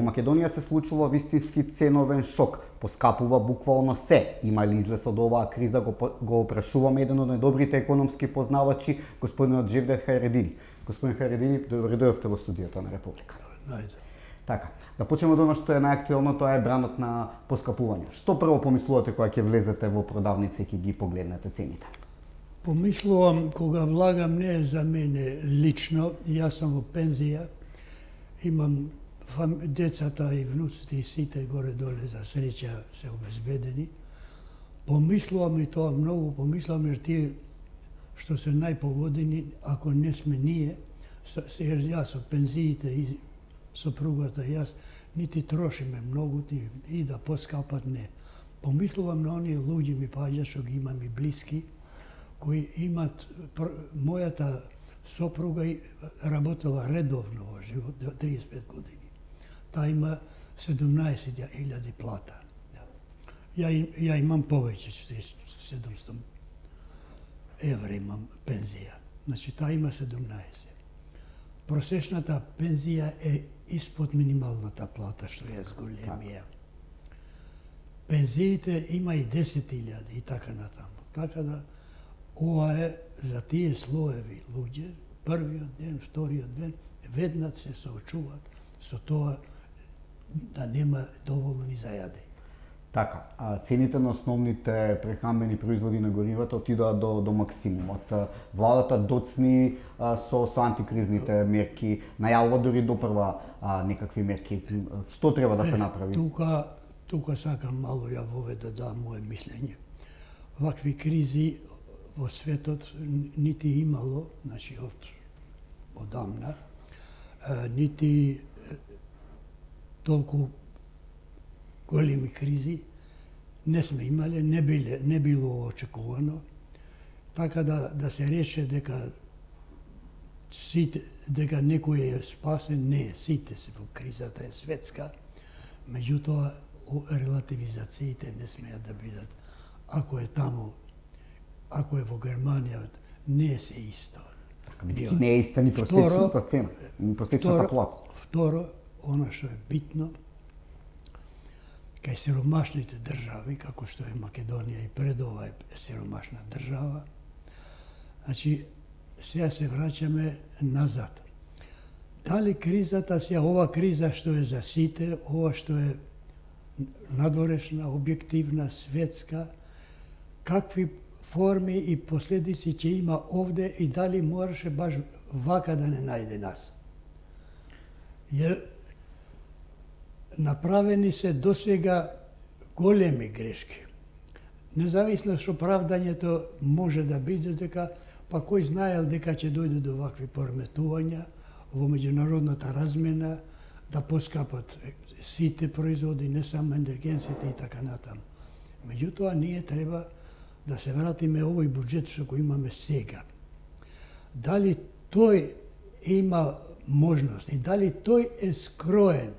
Македонија се случува вистински ценовен шок. Поскапува буквално се. Има ли излез од оваа криза, го опрашуваме еден од најдобрите економски познавачи, господинот Джевдет Хајредини. Господин Хајредини, добре дојдовте во студиото на Република. Така, да почнеме од она што е најактуелно, тоа е бранот на поскапување. Што прво помислувате кога ќе влезете во продавница и ќе ги погледнете цените? Помислувам кога влагам не е за мене лично, јас сум во пензија, имам децата и внуците и сите горе-доле за среќа се обезбедени. Помислувам и тоа многу, помислувам jer тие што се најпогодени, ако не сме ние, јас со пензиите и сопругата јас, нити трошиме многу, и да поскапат не. Помислувам на оние луѓе ми паѓа што ги имам и блиски, кои имат, мојата сопруга работела редовно во живот, 35 години. Таа има 17.000 плата. Ја имам повеќе, 700 евра имам пензија. Значи, таа има 17. Просечната пензија е испод минималната плата, што е зголемија. Пензиите има и 10.000 и така натаму. Така да, ова е за тие слоеви луѓе, првиот ден, вториот ден, веднаш се соочуваат со тоа да нема доволно ни за јаде. Така, цените на основните прехранбени производи на горивата отидоа до максимумот. Владата доцни со антикризните мерки, најавува дури допрва некакви мерки. Што треба да се направи? Тука сакам мало ја воведа да мое мислење. Вакви кризи во светот нити имало, значи одамна, нити толку големи кризи не сме имале, не било очекувано, така да се рече дека некој е спасен, не, сите се во кризата е светска, меѓутоа релативизациите не смеат да бидат. Ако е таму, ако е во Германија, не е се исто. Не е иста ни просечната цена, ни просечната плата. Второ, она што е битно, кај сиромашните држави, како што е Македонија и пред ова е сиромашна држава, значи, сега се враќаме назад. Дали кризата, сега ова криза што е за сите, ова што е надворешна, објективна, светска, какви форми и последици ќе има овде и дали мораше баш вака да не најде нас. Jer направени се досега големи грешки. Независно што правдањето може да биде дека, па кој знаел дека ќе дојде до вакви пореметувања во меѓународната размена, да поскапат сите производи, не само енергенсите и така натаму. Меѓутоа, ние треба да се вратиме овој буџет што го имаме сега. Дали тој има можност и дали тој е скроен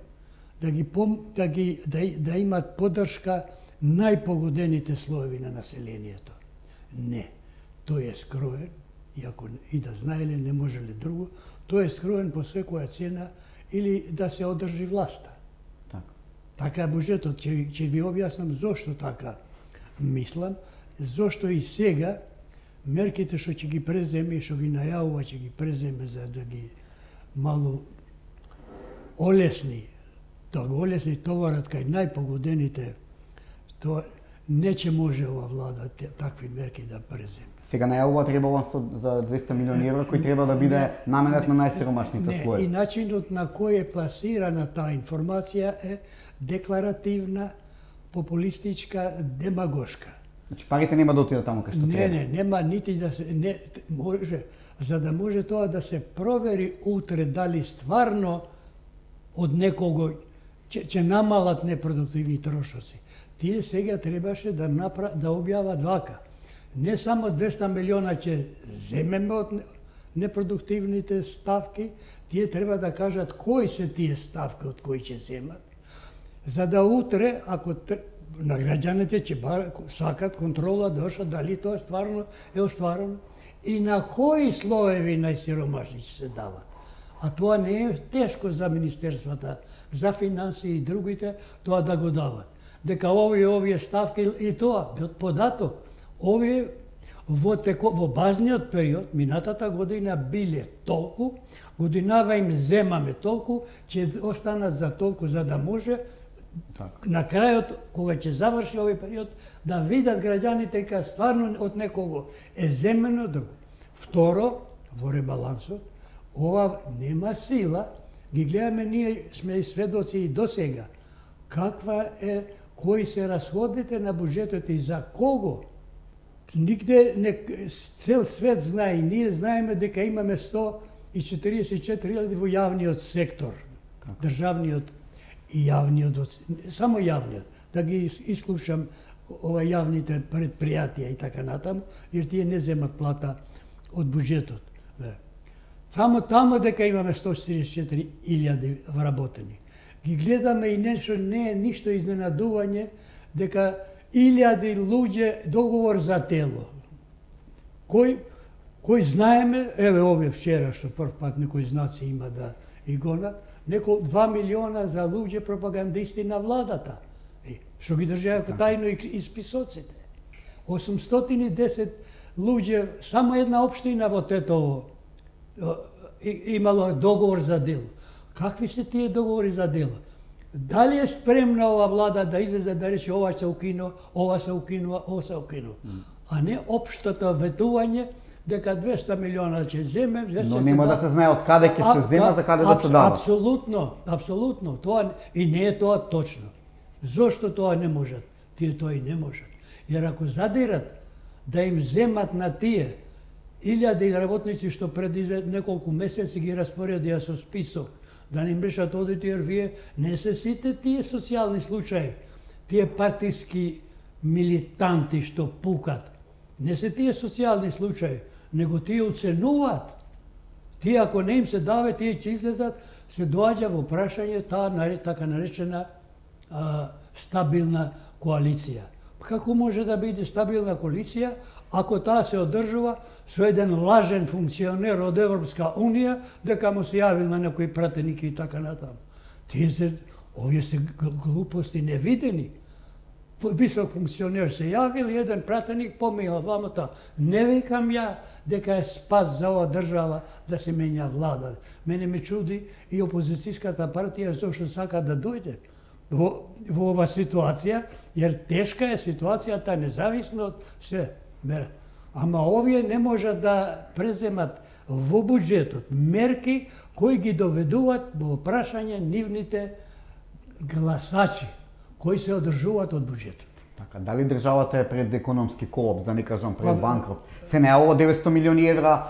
да имат поддршка најпогодените слоеви на населението? Не. Тој е скроен, иако и да знаеле не можеле друго, тој е скроен по секоја цена или да се одржи власта. Така е буџетот. Ќе ви објаснам зошто така мислам, зошто и сега мерките што ќе ги преземе и што ги најавува ќе ги преземе за да ги мало олесни, да го олесни товарот кај најпогодените, тоа не ќе може ова влада такви мерки да преземе. Сега најавува ребаланс за 200 милиони евра кој треба да биде наменет на најсиромашните слоеви. И начинот на кој е пласирана таа информација е декларативна, популистичка, демагошка. Значи парите нема да отидат таму кај што треба. Не, нема нити да се може, за да може тоа да се провери утре дали стварно од некого ќе намалат непродуктивни трошоци. Тие сега требаше да објават вака. Не само 200 милиона ќе земеме од непродуктивните ставки, тие треба да кажат кои се тие ставки од кои ќе земат, за да утре, ако на граѓаните ќе сакат контрола доша дали тоа стварно е остварено и на кои слоеви најсиромашни ќе се дават. А тоа не е тешко за министерствата, за финансии и другите, тоа да го дават. Дека овие ставки и тоа, податок, овие во базниот период, минатата година биле толку, годинава им земаме толку, ќе останат за толку, за да може на крајот, кога ќе заврши овој период, да видат граѓаните дека стварно од некого е земено друго. Второ, во ребалансот, ова нема сила, ги гледаме, ние сме сведоци и досега, кои се расходите на буџетот и за кого. Нигде, цел свет знае, и ние знаеме дека имаме 144.000 во јавниот сектор, државниот и јавниот, само јавниот, да ги ислушам јавните предпријатија и така натаму, jer тие не земат плата од буџетот. Само тамо дека имаме 144.000 вработени. Ги гледаме и нешто, не е ништо изненадување дека 1000 луѓе договор за тело. Кој знаеме, еве овие вчера што прв пат некои знаци има да и гонат, 2 милиона за луѓе пропагандисти на владата, што ги држаја тајно и списоците. 810 луѓе, само една општина во Тетово имало договор за дело. Какви се тие договори за дело? Дали е спремна ова влада да излезе да рече ова се укинува, ова се укинува, ова се укинува? А не општото ветување дека 200 милиона ќе земе, но нема да се знае од каде ќе се зема, за каде да се дава. Апсолутно, тоа и не е тоа точно. Зошто тоа не можат? Тие тоа и не можат. Jer ако задират да им земат на тие 1000 работници што пред неколку месеци ги распоредија со список, да не им решат одите, jer вие не се сите тие социјални случаи, тие партиски милитанти што пукат, не се тие социјални случаи, него тие оценуваат. Тие ако не им се даве, тие ќе излезат, се доаѓа во прашање таа така наречена стабилна коалиција. Како може да биде стабилна коалиција ако таа се одржува со еден лажен функционер од Европска Унија, дека му се јавил на некои пратеники и така натаму. Овие се глупости невидени. Висок функционер се јавил, еден пратеник помеја двамата. Не викам ја дека е спас за ова држава да се менја влада. Мене ме чуди и опозицијската партија зошто сака да дојде во ова ситуација, jer тешка е ситуацијата независно од се. Ама овие не можат да преземат во буџетот мерки кои ги доведуваат во прашање нивните гласачи, кои се одржуваат од буџетот. Така, дали државата е пред економски колапс, да не кажам пред банкрот? Се најавува 900 милиони евра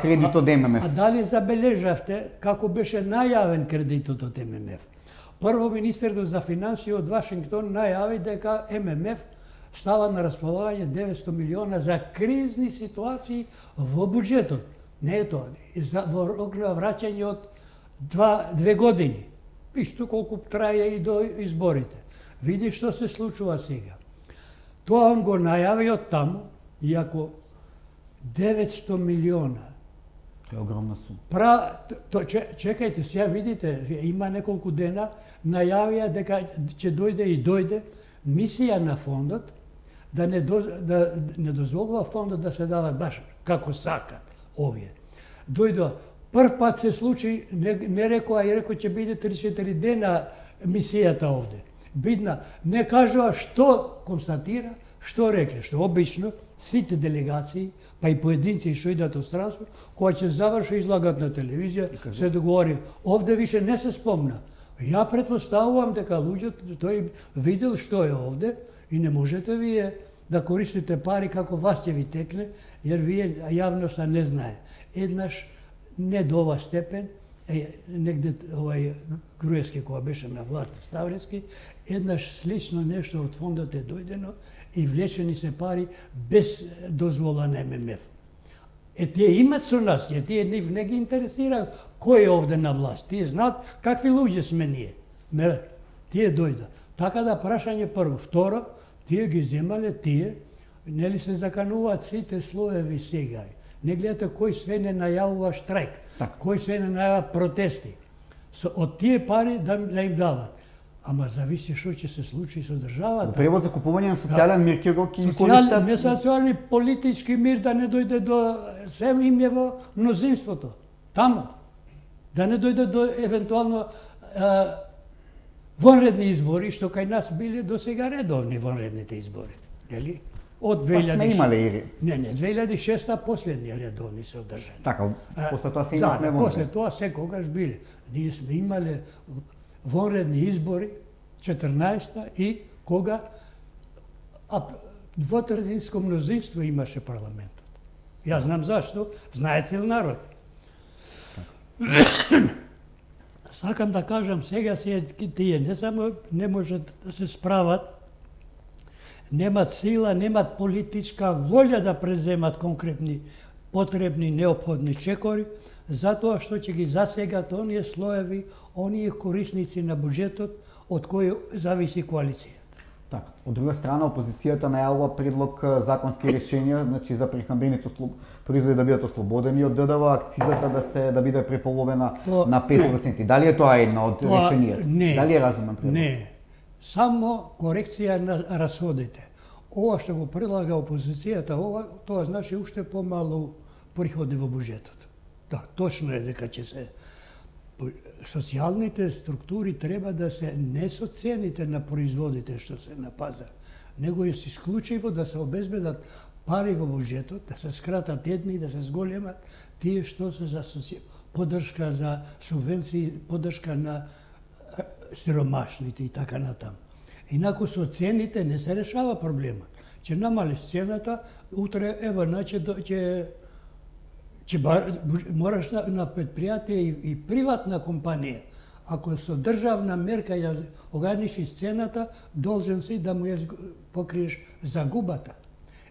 кредит од ММФ. А дали забележавте како беше најавен кредитот од ММФ? Прво, министерот за финансии од Вашингтон најави дека ММФ става на располагање 900 милиона за кризни ситуации во буџетот. Не е тоа, во рок на враќање од 2 години. Исто колку трае и до изборите. Види што се случува сега. Тоа он го најави од таму, иако 900 милиона. Тоа е огромна сума. Чекајте, сега видите, има неколку дена, најавија дека ќе дојде и дојде мисија на фондот, да не дозволува фондот да се дават баш како сакат овие. Дојдоа, прв пат се случи, не рекоа, и рекоа ќе биде 3-4 дена мисијата овде. Бидна, не кажува што констатира, што рекле, што обично сите делегации, па и поединци што идат од странство, кога ќе заврши излагат на телевизија, се договори. Овде више не се спомна. Ја претпоставувам дека луѓето тој видел што е овде и не можете вие да користите пари како вас ќе ви текне, jer вие јавноста не знае. Еднаш не до ова степен, негде Груевски кога беше на власт Ставрески, еднаш слично нешто од фондот е дојдено и влечени се пари без дозвола на ММФ. Тие имат со нас, тие не ги интересира кој е овде на власт. Тие знаат какви луѓе сме ние. Тие дојда. Така да прашање прво. Второ, тие ги земале, нели се закануваат сите слоеви сега. Не гледате кој све не најавува штрајк, кој све не најавува протести. Од тие пари да им дават. Ама зависи што ќе се случи со државата. Превод за купување на социјален мир ќе го користат. Не социјални, политички мир да не дојде до се им е во мнозинството. Тамо. Да не дојде до евентуално вонредни избори, што кај нас биле до сега редовни вонредните избори. Нели? Од 2006. Сме имале Не, 2006 последни редовни се одржани. Така, после тоа се имавме вонредни. После тоа секогаш биле. Ние сме имале вонредни избори 14-та и кога двотретинско мнозинство имаше парламентот. Јас знам зашто, знае цел народ. Сакам да кажам, сега тие не само не можат да се справат, немат сила, немат политичка волја да преземат конкретни потребни, неопходни чекори, затоа што ќе ги засегат оние слоеви, оние корисници на буџетот од кои зависи коалицијата. Така. Од друга страна, опозицијата најавува предлог законски решенија, значи за прехранбените производи да бидат ослободени од ДДВ, акцизата да биде преполовена на 5%. Дали е тоа едно од решенијата? Не. Дали е разумен предлог? Не. Само корекција на расходите. Ова што го предлага опозицијата, тоа значи уште помалу приходи во буџетот. Да, точно е дека ќе се социјалните структури треба да се не со цените на производите што се на пазар, него е исклучиво да се обезбедат пари во буџетот, да се скратат едни, да се зголемат тие што се за поддршка за субвенции, поддршка на сиромашните и така натаму. Инаку со цените не се решава проблемот. Ќе намалиш цената, утре ево ќе мораш на предпријатие и приватна компанија, ако со државна мерка ја ограничиш цената, должен си да му ја покриеш загубата.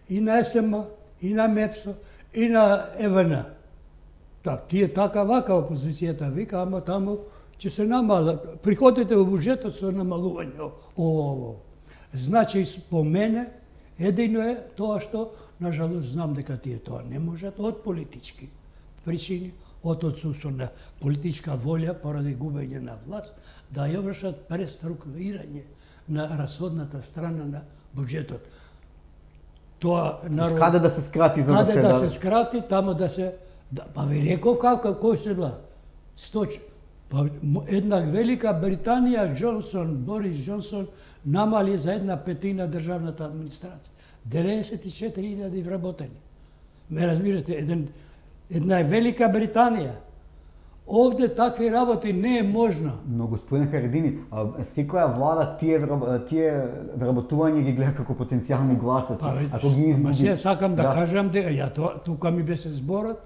И на СМ, и на МЕПСО, и на ЕВН. Тие така вака опозицијата вика, ама таму ќе се намалат. Приходите во буџетот со намалување. Значи, по мене, едино е тоа што, нажалост, знам дека тие тоа не можат од политички причини, од отсутство на политичка волја поради губење на власт, да ја вршат преструктурирање на расходната страна на буџетот. Тоа народ... Каде да се скрати за да се... Каде да се скрати, тамо да се... Па ви реков како, кој се бла? Една Велика Британија, Борис Џонсон, намали за 1/5 државната администрација. 94.000 вработени. Ме разбирате, една Велика Британија. Овде такви работи не е можно. Но господин Харедини, секоја влада тие вработување ги гледа како потенцијални гласачи. Ако ги изгуби... Се сакам да кажам дека тука ми беше зборот,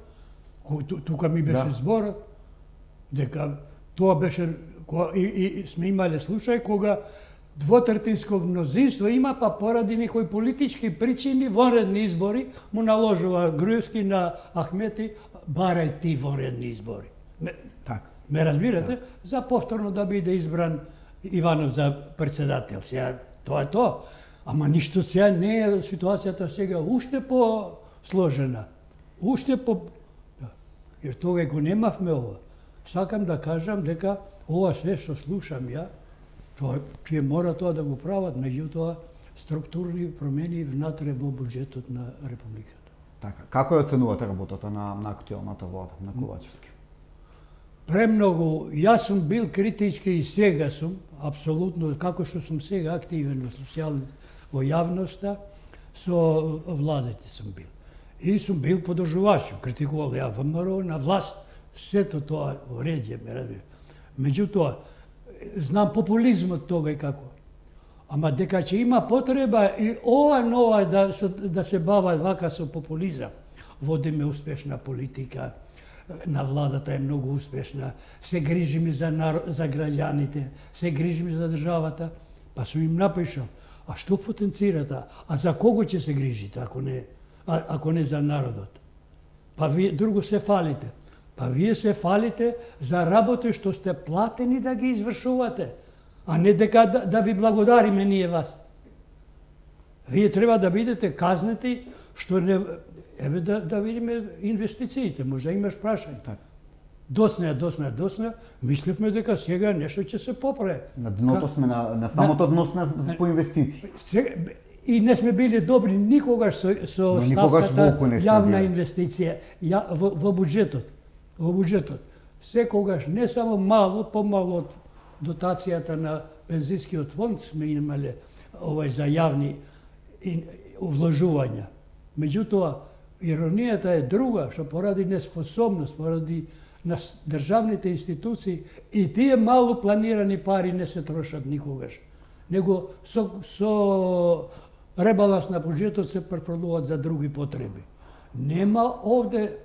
дека тоа беше и сме имале случај кога двотретинско мнозинство има, па поради некои политички причини, вонредни избори, му наложува Груевски на Ахмети, барај ти вонредни избори. Ме разбирате? За повторно да биде избран Иванов за председател. Сега, тоа е тоа. Ама ништо сега не е ситуацијата сега уште по-сложена. Уште по... Jer тога го немавме ова. Сакам да кажам дека ова све што слушам ја, тие мора тоа да го прават, меѓутоа структурни промени внатре во буџетот на Републиката. Така, како ја оценувате работата на актуелната влада, на Ковачевски? Премногу, јас сум бил критички и сега сум, апсолутно, како што сум сега активен во јавноста, со владите сум бил. И сум бил подржуваш, критикувал ја ВМРО на власт, сето тоа уредје, ме разбира. Меѓутоа, знам популизмот тога и како. Ама дека ќе има потреба и ова нова да се бава вака со популизам. Водиме успешна политика, на владата е многу успешна, се грижиме за граѓаните, се грижиме за државата, па сум им напишал, а што потенцирате, а за кого ќе се грижите, ако не за народот? Па вие друго се фалите. Па вие се фалите за работи што сте платени да ги извршувате, а не дека да ви благодариме ние вас. Вие треба да бидете казнети што не еве да видиме инвестициите, може имаш прашање. Досна, мислевме дека сега нешто ќе се поправи. На дното сме, на самото дно сме по инвестиции. И не сме били добри никогаш со ставката јавна инвестиција во буџетот. Во буџетот. Секогаш не само мало, помало од дотацијата на пензискиот фонд сме имале за јавни вложувања. Меѓутоа, иронијата е друга, што поради неспособност, поради на државните институции и тие мало планирани пари не се трошат никогаш. Него со ребаланс на буџетот се префрлуваат за други потреби. Нема овде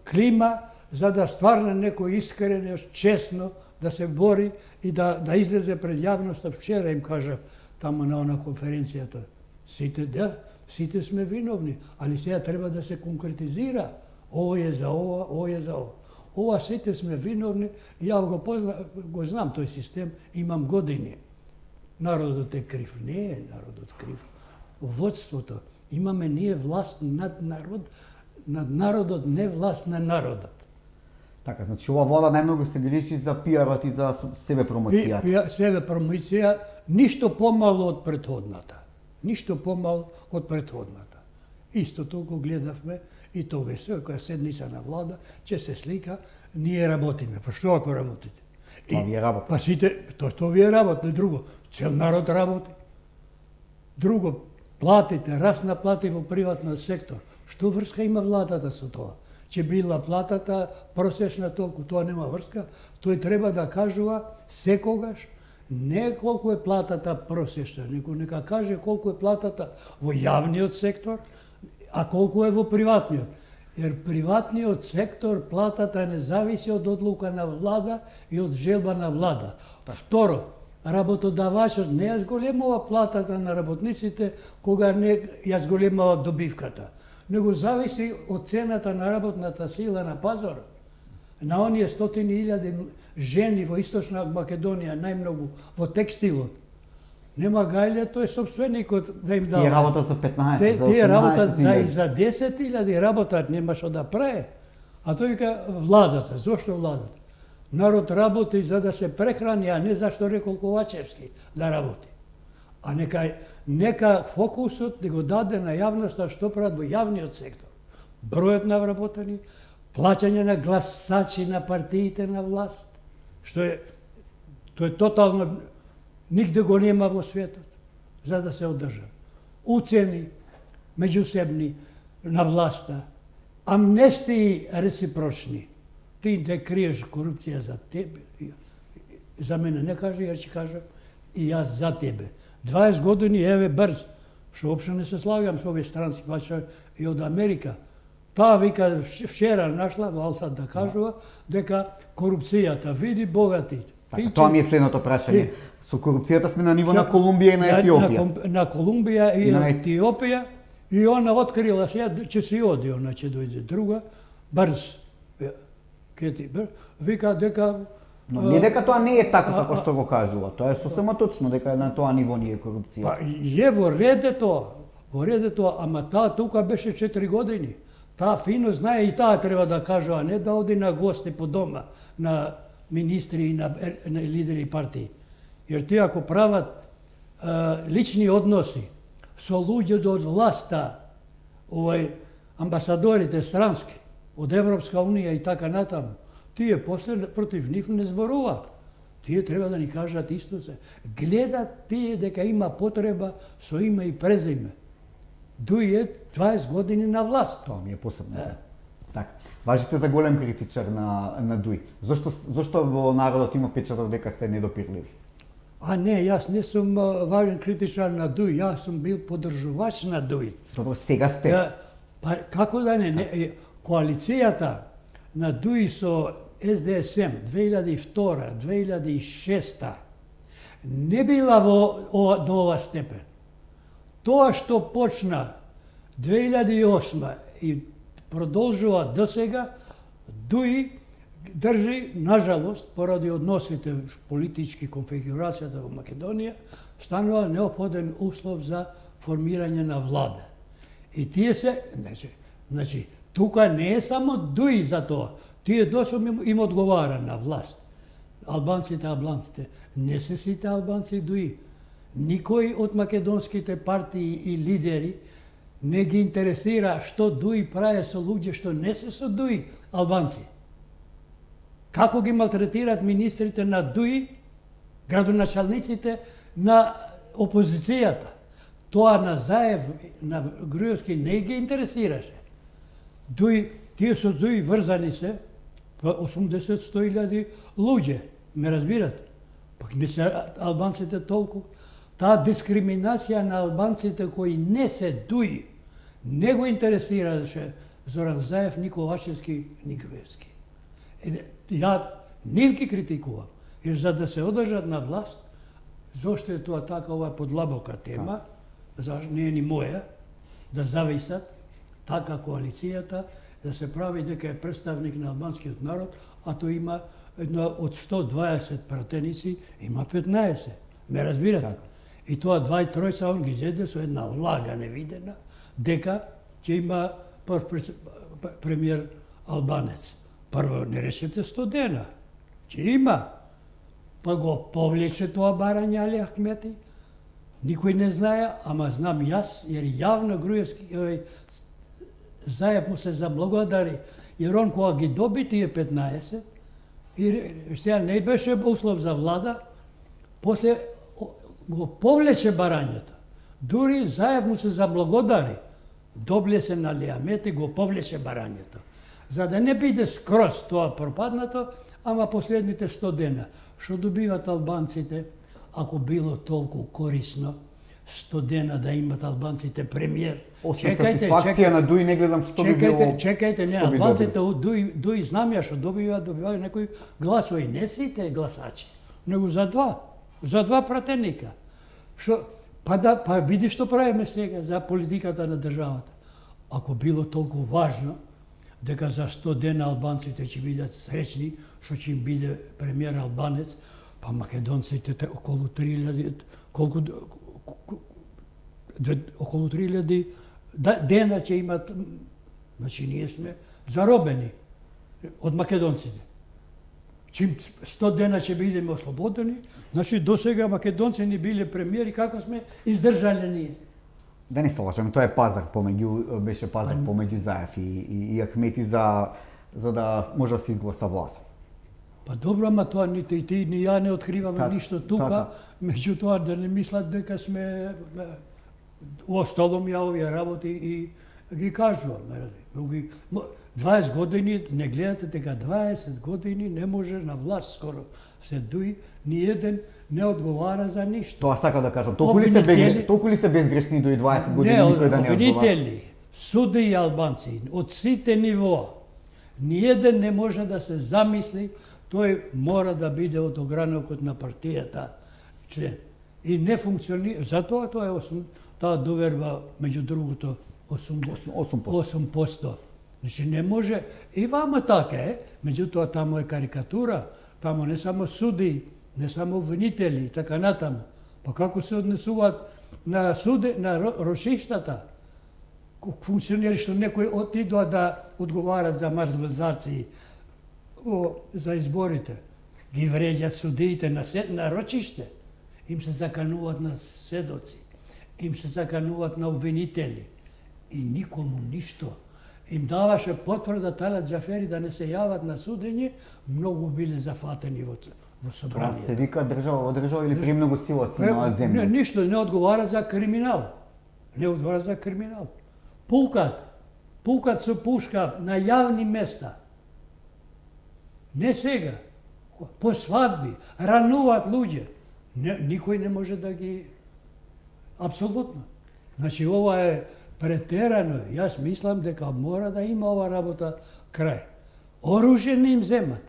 клима за да стварно некој искрено, честно да се бори и да излезе пред јавноста. Вчера им кажав таму на она конференцијата. Сите сме виновни, али сега треба да се конкретизира. Ово е за ова, ово е за ова. Ова сите сме виновни, ја го знам тој систем, имам години. Народот е крив. Не е народот крив. Водството. Имаме ние власт над народот, не власт на народот. Така, значи ова влада најмногу се грижи за пиарот и за себе промоцијата. Себе промоција, ништо помало од претходната. Ништо помало од претходната. Истото го гледавме и тогаш, која седница на влада, ќе се слика, ние работиме. Па што ако работите? Тоа ви е работа. Па сите, тоа ви е работа, друго. Цел народ работи. Друго, платите, раст на плати во приватниот сектор. Што врска има владата со тоа? Че била платата просечна толку, тоа нема врска. Тој треба да кажува секогаш не колку е платата просечна, него нека каже колку е платата во јавниот сектор, а колку е во приватниот. Jer приватниот сектор платата не зависи од одлука на влада и од желба на влада. Второ, работодавачот не ја зголемува платата на работниците кога не ја зголемува добивката, него зависи од цената на работната сила на пазарот. На оние стотини илјади жени во Источна Македонија, најмногу во текстилот. Нема гајле, тој собственикот да им дава. Тие работат за 15, за 18. Тие работат за 10.000 работат, нема што да прави. А тој вика владата, зошто владата? Народ работи за да се прехрани, а не зашто рекол Ковачевски да работи. А нека фокусот да го даде на јавноста што прават во јавниот сектор. Бројот на вработени, плаќање на гласачи на партиите на власт, тоа е тотално нигде го нема во светот, за да се одржа. Уцени меѓусебни на власта, амнестии реципрочни. Ти не криеш корупција за тебе, за мене не кажи, ја ќе кажам, и јас за тебе. 20 години, еве брз, што општо не се слагам со овие странски пача и од Америка. Таа вика вчера нашла во Алсат да кажува дека корупцијата види богатите. Тоа ми е следното прашање. Со корупцијата сме на ниво на Колумбија и на Етиопија. На Колумбија и на Етиопија, и она открила сега, ќе се оди, она ќе дојде друга, брз. Вика дека... Но не дека тоа не е така како што го кажува, тоа е сосема точно дека на тоа ниво не е корупција. Па е во ред е тоа, ама таа тука беше 4 години. Таа фино знае и таа треба да кажува, не да оди на гости по дома на министри и на лидери партии. Jer тие ако прават лични односи со луѓето од власта, амбасадорите странски, од Европска унија и така натаму, тие после против нив не зборуваат. Тие треба да ни кажат исто се. Гледат тие дека има потреба со име и презиме. Дује 20 години на власт. Тоа ми е посебно. Така. Важите за голем критичар на Дуј. Зошто во народот има печаток дека сте недопирливи? А не, јас не сум важен критичар на Дуј, јас сум бил поддржувач на Дуј. Добро, сега сте. Па како да не, коалицијата на Дуј со СДСМ 2002-2006 не била до ова степен. Тоа што почна 2008 и продолжува до сега, Дуј држи, нажалост, поради односите политички конфигурацијата во Македонија, станува неопходен услов за формирање на влада. И тие се, значи, тука не е само Дуи за тоа. Тие досом им одговара на власт. Албанците, не се сите албанци Дуи. Никој од македонските партии и лидери не ги интересира што Дуи прави со луѓе што не се со Дуи албанци. Како ги малтретираат министрите на Дуи, градоначалниците на опозицијата. Тоа на Заев, на Груевски не ги интересираше. Тие со Дуи врзани се 80-100 луѓе, ме разбирате? Пак не се албанците толку. Таа дискриминација на албанците кои не се Дуи не го интересираше Зоран Заев, ни Ковачевски, ни Груевски. Ја нив ги критикувам. И за да се одржат на власт, зошто е тоа така, ова е подлабока тема, зашто не е ни моја, да зависат така коалицијата, да се прави дека е представник на албанскиот народ, а тој има од 120 пратеници, има 15. Ме разбирате? И тоа 23 он ги зеде со една влага невидена, дека ќе има прв премиер албанец. Прво не решете 100 дена. Ќе има. Па го повлече тоа барање Али Ахмети. Никој не знае, ама знам јас, jer јавно Груевски Заев му се заблагодари, jer он кога ги доби тие 15, и сега не беше услов за влада, после го повлече барањето. Дури Заев му се заблагодари. Добле се на Али Ахмети, го повлече барањето. За да не биде скроз тоа пропаднато, ама последните 100 дена. Што добиват албанците, ако било толку корисно, 100 дена да имат албанците премиер? Сатисфакција на Дуи не гледам што би било. Чекајте, не, албанците од Дуи знам ја што добиваат некои гласови, не сите гласачи, него за два пратеника. Па види што правиме сега за политиката на државата. Ако било толку важно, дека за 100 дена албанците ќе бидат среќни, што ќе им биде премиер албанец, па македонците околу 3000, околу 3000 дена ќе имат, значи ние сме заробени од македонците. Чим 100 дена ќе бидеме ослободени, значи до сега македонци ни биле премиери, како сме издржале ние. Да не се лажеме, тоа е пазар беше пазар помеѓу Заев и Ахмети за да може да се изгласа власт. Па добро, ама тоа ни ја не откриваме ништо тука, меѓутоа да не мислат дека сме осталом ја овие работи и ги кажувам. 20 години, не гледате дека 20 години не може на власт скоро се Дуи, ни еден не одговара за ништо. Тоа сака да кажам, толку ли се безгрешни Дуи 20 години никој да не одговара? Обвинители, суди и албанци, од сите нивоа, ни еден не може да се замисли, тој мора да биде од огранокот на партијата член. И не функционира, затоа тоа е таа доверба, меѓу другото, 8%. Значи не може, и вама така е, меѓутоа тамо е карикатура, тамо не само суди, не само обвинители и така натаму. Па како се однесуваат на суди, на рошиштата, функционери што некои отидоа да одговарат за мртвецарци за изборите, ги вреѓаат судиите на рочиште, им се закануваат на сведоци, им се закануваат на обвинители и никому ништо. Им даваше потврда Талат Џафери да не се јават на судење, многу биле зафатени во собранието. Тоа се вика држава или премногу сила си на земја? Ништо, не одговара за криминал. Не одговара за криминал. Пукат со пушка на јавни места. Не сега. По свадби, рануваат луѓе. Никој не може да ги... Апсолутно. Значи, ова е претерано. Јас мислам дека мора да има ова работа крај. Оружје не им земат.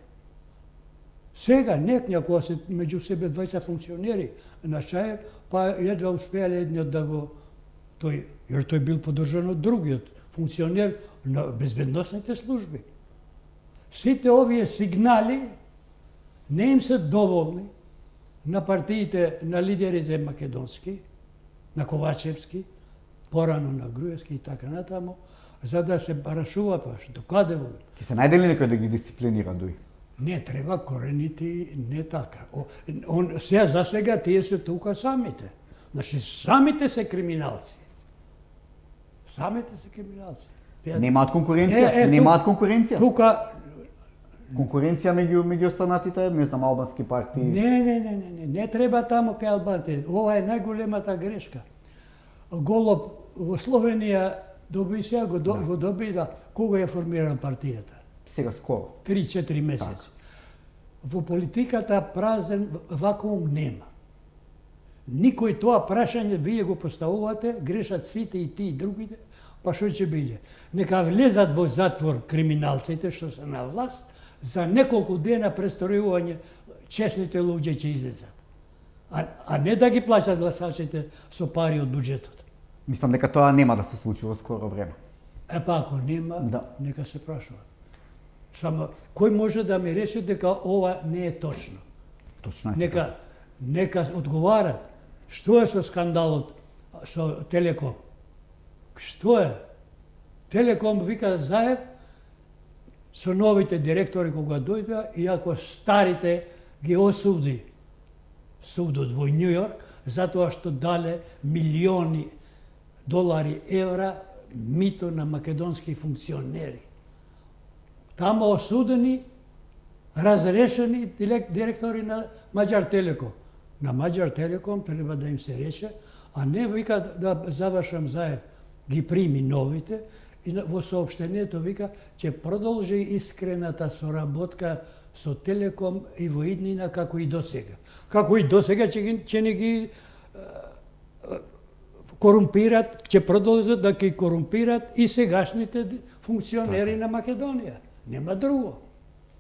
Сега, некоја се меѓу себе 20 функционери на Шаев, па едва успеале едниот да го... Тој бил подржан од другиот функционер на безбедносните служби. Сите овие сигнали не им се доволни на партиите, на лидерите македонски, на Ковачевски, порано на Груевски и така натаму, за да се барашува паш. Докаде води? Ке се најде ли некој да ги дисциплинира дуи? Не треба корените, не така. Сега за сега тие се тука самите. Значи самите се криминалци. Самите се криминалци. Немаат конкуренција? Немаат конкуренција? Тука Конкуренција меѓу останатите, не знам, албански партии? Не треба таму кај албанците. Ова е најголемата грешка. Голоб во Словенија доби сега го доби кога е формирана партијата. Сега скоро. 3-4 месеци. Во политиката празен вакуум нема. Никој тоа прашање вие го поставувате, грешат сите и ти и другите, па што ќе биде? Нека влезат во затвор криминалците што се на власт, за неколку дена престориување честните луѓе ќе излезат. А не да ги плаќат гласачите со пари од буџетот. Мислам дека тоа нема да се случи во скоро време. Ако нема, да, нека се прашува. Само кој може да ми рече дека ова не е точно? Точно е. Нека одговарат. Што е со скандалот со Телеком? Што е? Телеком вика Заев со новите директори кога дојдоа, иако старите ги осуди судот во Њу Јорк, затоа што дале милиони долари, евра мито на македонски функционери. Тамо осудени, разрешени директори на Маđар Телеком. На Маđар Телеком треба да им се реше, а не вика да завршам Заев, ги прими новите, и во соопштението вика ќе продолжи искрената соработка со Телеком и во иднина како и досега. Како и досега ќе не ги корумпират, ќе продолжат да ги корумпират и сегашните функционери на Македонија. Нема друго.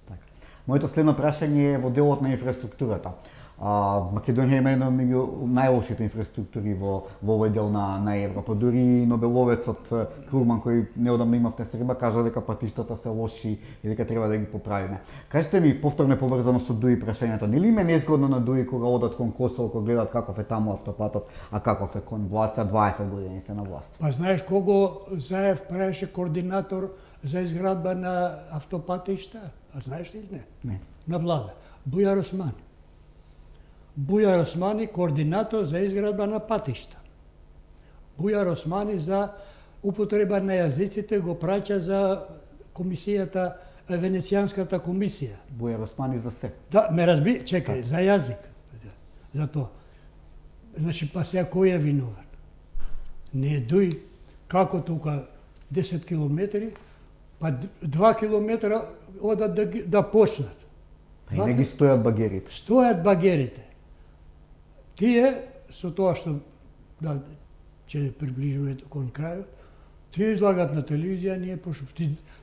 Така. Моето следно прашање е во делот на инфраструктурата. Македонија има една меѓу најлошите инфраструктури во овој дел на Европа. Дури Нобеловецот Круман, кој неодамно имавте среба, кажа дека патиштата се лоши и дека треба да ги поправиме. Кажете ми повторно поврзано со Дуи прашањето, нели им е незгодно на Дуи кога одат кон Косово, кога гледат каков е таму автопатот, а каков е кон Блаца, 20 години се на власт? Па знаеш кого Заев правеше координатор за изградба на автопатишта? А знаеш ли не? Не. На влада. Бујар Османи. Бујар Османи координатор за изградба на патишта. Бујар Османи за употреба на јазиците го праќа за комисијата, Венецијанската комисија. Бујар Османи за се. Да, ме разби, чекај, за јазик. За тоа. Значи, па сега кој е винован? Не Дуј, како тука 10 километри, па 2 километра одат да почнат. И не ги стојат багерите. Стојат багерите. Тие, со тоа што да ќе приближиме кон крајот, тие излагат на телевизија, ние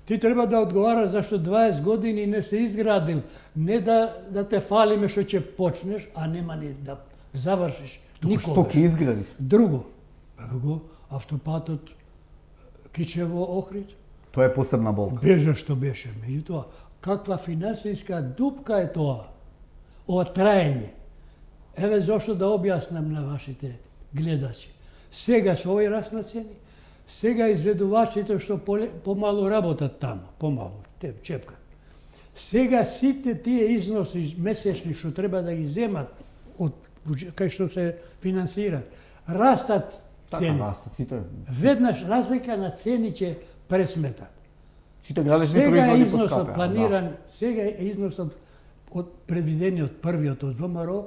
ти треба да одговараш зашто 20 години не се изградил, не да те фалиме што ќе почнеш, а нема ни да завршиш никогаш. Што ќе изградиш? Друго, автопатот Кичево Охрид. Тоа е посебна болка. Бежа што беше, меѓутоа, каква финансиска дупка е тоа? Ова траење. Еве зошто да објаснам на вашите гледачи. Сега со овој раст на цени, сега изведувачите што помалу работат таму, помалу, те чепкат. Сега сите тие износи месечни што треба да ги земат од кај што се финансират, растат цени. Така, растат сите. Веднаш разлика на цени ќе пресметат. Сите градежни сега е производи износот поскапеа, планиран, да. сега е износот од предвидениот првиот од ВМРО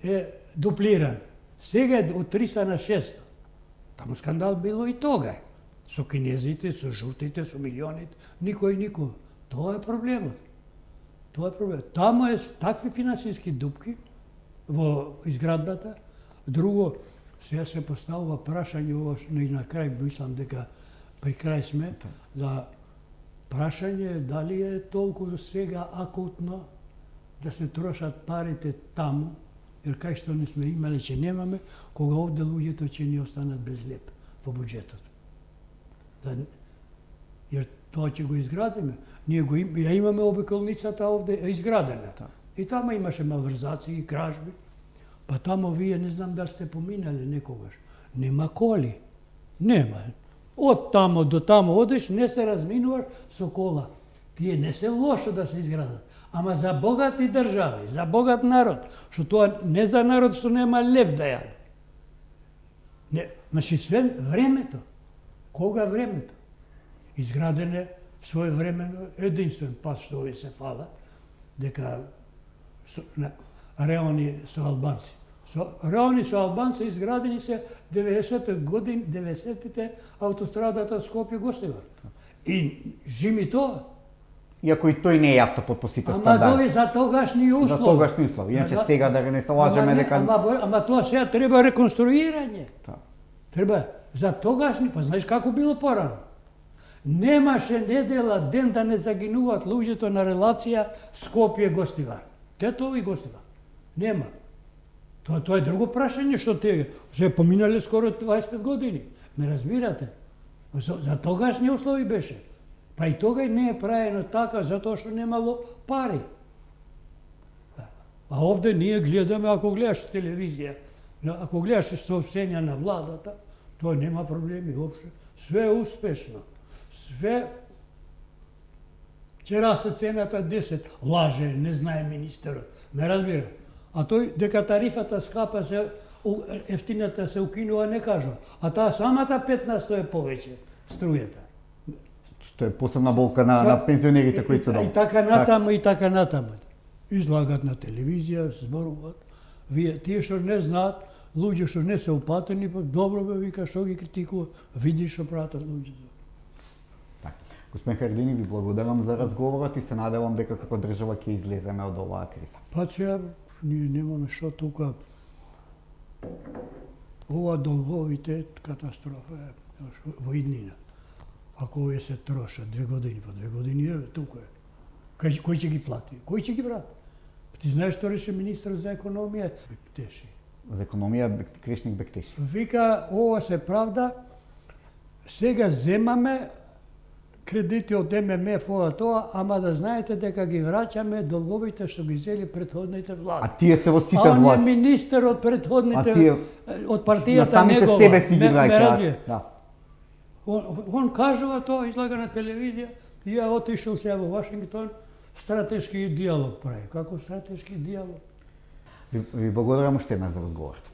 е дуплиран. Сега е од 300 на 600. Таму скандал било и тога. Со кинезите, со жутите, со милионите, никој. Тоа е проблемот. Тоа е проблемот. Таму е такви финансиски дупки во изградбата. Друго, сега се поставува прашање, и на крај мислам дека при крај сме, да прашање дали е толку сега акутно да се трошат парите таму, jer кај што не сме имале, че немаме, кога овде луѓето ќе ни останат без леп во буџетот. Jer тоа ќе го изградиме. Ние ја имаме обиколницата овде изградена. И таму имаше малверзации и кражби. Па таму вие не знам дали сте поминали некогаш. Нема коли. Нема. Од тамо до тамо одиш, не се разминуваш со кола. Тие не се лошо да се изградат. Ама за богати држави, за богат народ, што тоа не за народ што нема леп да јаде. Не, значи све времето. Кога времето? Изграден е своевремено единствен пат што овие се фала, дека реони со албанци. Реони со албанци изградени се 90-те автострадата Скопје-Гостивар. И жими тоа. Иако и тој не е автопотпосите Ама стандард. дој за тогашни услови. За тогашни услови. Иначе сега да не се лажеме дека... Ама тоа сега треба реконструирање. Да. Треба за тогашни, па знаеш како било порано. Немаше недела ден да не загинуваат луѓето на релација Скопје-Гостивар. Тетово-Гостивар. Нема. Тоа е друго прашање што те се поминале скоро 25 години. Ме разбирате? За тогашни услови беше. Па и тога не е правено така затоа што немало пари. А овде ние гледаме, ако гледаш телевизија, ако гледаш сообщенија на владата, тоа нема проблеми воопшто. Све е успешно. Све ќе расте цената 10. Лаже, не знае министерот. Ме разбира. А тој дека тарифата скапа се ефтината се укинува не кажува. А таа самата 15% е повеќе струјата. Што е посебна болка на пензионерите кои се И така натаму, и така натаму. Излагат на телевизија, зборуваат. Тие што не знаат, луѓе што не се упатени, добро бе вика што ги критикува, види што пратат луѓето. Господин Харедини, ви благодарам за разговорот и се надевам дека како држава ќе излеземе од оваа криза. Па сега ние немаме што тука. Ова долговите катастрофа е во иднина. Ако овие се трошат 2 години по 2 години, еве тука е. Кој ќе ги плати? Кој ќе ги врати? Ти знаеш што реше министр за економија? Бектеши. За економија Кришник Бектеши. Вика, ова се правда, сега земаме кредити од ММФ тоа, ама да знаете дека ги враќаме долговите што ги зели претходните влади. А тие се во сите влади. А он е влади. министер од претходните, од партијата на самите негова. себе си ги враќаат. Да. Он кажува тоа, излага на телевизија, и ја отишол сега во Вашингтон, стратешки диалог прави. Како стратешки диалог? Ви благодарам уште еднаш за разговорот.